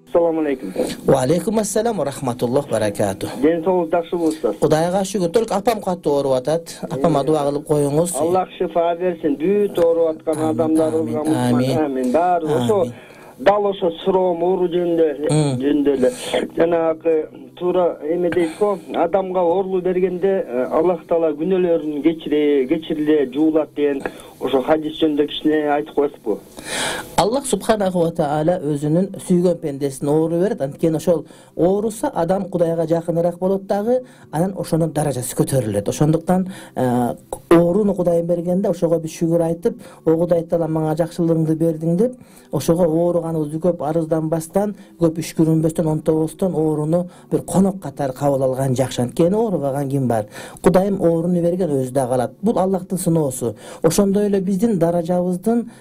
Assalamu alaikum. Wa alaikum assalam wa rahmatulloh barakatuh. Ден соңуз жакшы болсун. Кудайга шүгүр. Только апам катты ооруп атат. Апама дуа кылып коюңуз. Аллах шифа берсин. Бүт ооруп аткан адамдарыбызга амин. Баары ошо дал ошо суроом оору жөнүндө эле жанагы туура эме дейт го, адамга оорулуу бергенде Аллах Таала күнөөлөрүн кечириле жуулат деген ошо хадис жөнүндө кичине айтып коесузбу? Аллах субханаху ва таала өзүнүн сүйгөн пендесине оору берет. Анткени ошол ооруса адам Кудайга жакыныраак болот дагы, анан ошонун даражасы көтөрүлөт. Ошондуктан ооруну Кудайым бергенде ошого биз шүгүр айтып, о Кудай Таала мага жакшылыгыңды бердиң деп, ошого ооруганыбызды көп арызданбастан, көп үшкүрүнбөстөн, онтобостон ооруну бир конок катары кабыл алган жакшы. Анткени оорубаган ким бар? Кудайым ооруну берген, өзү да калат. Бул Аллахтын сыноосу. Ошондой эле биздин даражабыздын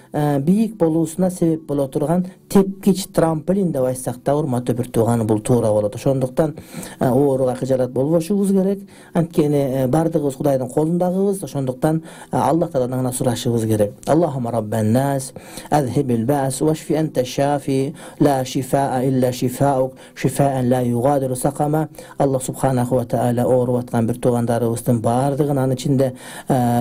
бийик болуусуна себеп боло турган тепкич, трамплин деп айтсак да, урматтуу бир тууган, бул туура болот. Ошондуктан ооруга кыжалат болбошубуз керек. Анткени бардыгыбыз Кудайдын колундагыбыз. Ошондуктан Аллах Тааладан гана сурашыбыз керек. Аллахумма раббан нас, азхибил баъс вашфи анта шафи, ла шифаа илля шифаук, шифаан ла югадиру сакама. Аллах субханаху ва таала ооруп аткан бир туугандарыбыздын бардыгын, анын ичинде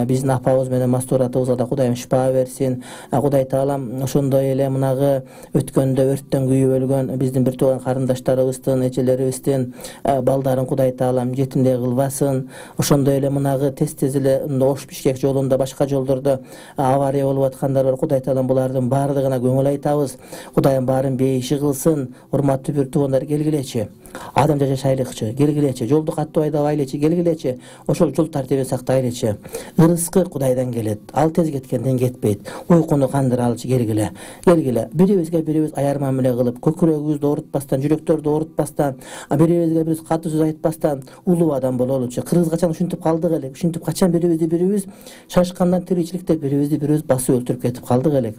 биздин апабыз менен мастуратыбызга да Кудайым шифа берсин. Кудай Таалам ошондой эле мунагы өткөндө өрттөн күйүп өлгөн биздин бир тууган карындаштарыбыздын, эжелерибиздин балдарын Кудай Таалам жетимдей кылбасын. Ошондой эле мунагы тез эле Ош-Бишкек жолунда, башка жолдордо авария болуп аткандар бар. Кудай Таалам булардын бардыгына көңүл айтабыз. Кудайым баарын бейиши кылсын. Урматтуу бир туугандар, келгилечи. Адам жашайлыкчы, келгилечи. Жолду катуу айдабайлычы, келгилечи. Ошол жол тартибин сактайлычы. Ырыскы Кудайдан келет. Ал тез кеткенден кетпейт. Уйкуну кандыралчы, келгиле. Бирибизге бирибиз аяр мамиле кылып, көкүрөгүбүздү оорутпастан, жүрөктөрдү оорутпастан, бирибизге бирибиз катуу сөз айтпастан улуу адам бололучу. Кыргыз качан ушинтип калдык элек. Ушинтип качан бирибиз шашкандан тиричиликте бирибиз басып өлтүрүп кетип калдык элек.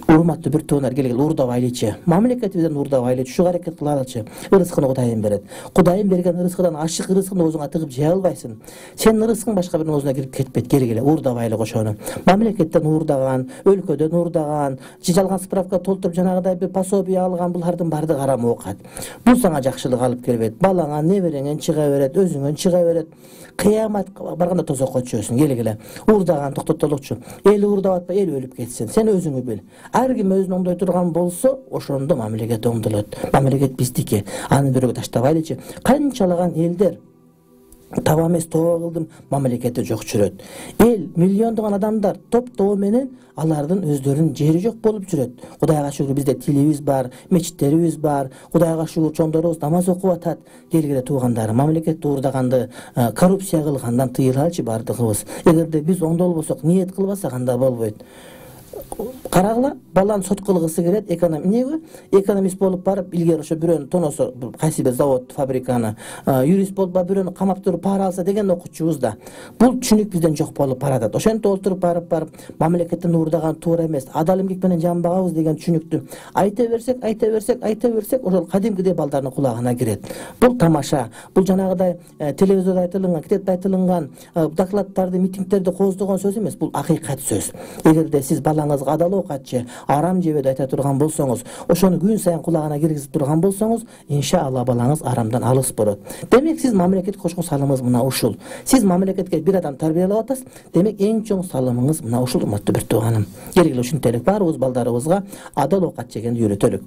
Урматтуу бир туугандар, келгиле, уурдабайлычы. Мамлекетибизден уурдабайлычы, ушуга аракет кылалычы. Ырыскыны Кудайым берет. Кудайым берген ырыскыдан ашык ырыскыны өзүңө тыгып жей албайсың. Сенин ырыскың башка биринин оозуна кирип кетпейт. Келгиле, уурдабайлык ошону. Мамлекеттен уурдаган, өлкөдөн уурдаган, жалган справка толтуруп жанагыдай бир пособие алган, булардын баардыгы арам оокат. Бул сага жакшылык алып келбейт. Балаңа, небереңен чыга берет, өзүңөн чыга берет. Кыямат барганда тозокко түшөсүң. Келгиле, уурдаган токтотолукчу. Эл уурдап атпа, эл өлүп кетсин. Сен өзүңү бил. Ар ким өзүн оңдой турган болсо, ошондо мамлекет оңдолот. Мамлекет биздики. Аны бирөөгө таштабайлычы. Канчалаган элдер таба эмес тоо кылдым, мамлекети жок жүрөт. Эл, миллиондогон адамдар топ-тобу менен алардын өздөрүнүн жери жок болуп жүрөт. Кудайга шүгүр, бизде тилибиз бар, мечиттерибиз бар. Кудайга шүгүр, чоңдорубуз намаз окуп атат. Келгиле туугандарым, мамлекетти уурдаганды, коррупция кылгандан тыйылалычы бардыгыбыз. Эгерде биз оңдолбосок, ниет кылбасак, анда болбойт. Карагыла, баланы сот кылгысы келет, экономист болуп барып, илгери ошо бирөөнү тоносо, кайсы бир завод, фабриканы, юрист болуп барып бирөөнү камап туруп пара алса деген окуучубуз да. Бул түшүнүк бизден жок болуп баратат. Ошентип отуруп барып мамлекеттен уурдаган туура эмес, адал эмгек менен жамбагабыз деген түшүнүктү айта берсек, ошол кадимкидей балдардын кулагына кирет. Бул тамаша, бул жанагыдай телевизордо айтылган, китепте айтылган, докладдарды, митингдерди кооздогон сөз эмес, бул акыйкат сөз. Эгерде сиз балаңызга адал оокатчы, арам жебеди айта турган болсоңуз, ошону күн сайын кулагына киргизип турган болсоңуз, иншалла балаңыз арамдан алыс болот. Демек сиз мамлекетке кошкон салымыңыз мына ушул. Сиз мамлекетке бир адам тарбиялап атасыз, демек эң чоң салымыңыз мына ушул, урматтуу бир тууганым. Келгиле ушинтелик баарыбыз балдарыбызга адал оокат жегенди үйрөтөлүк.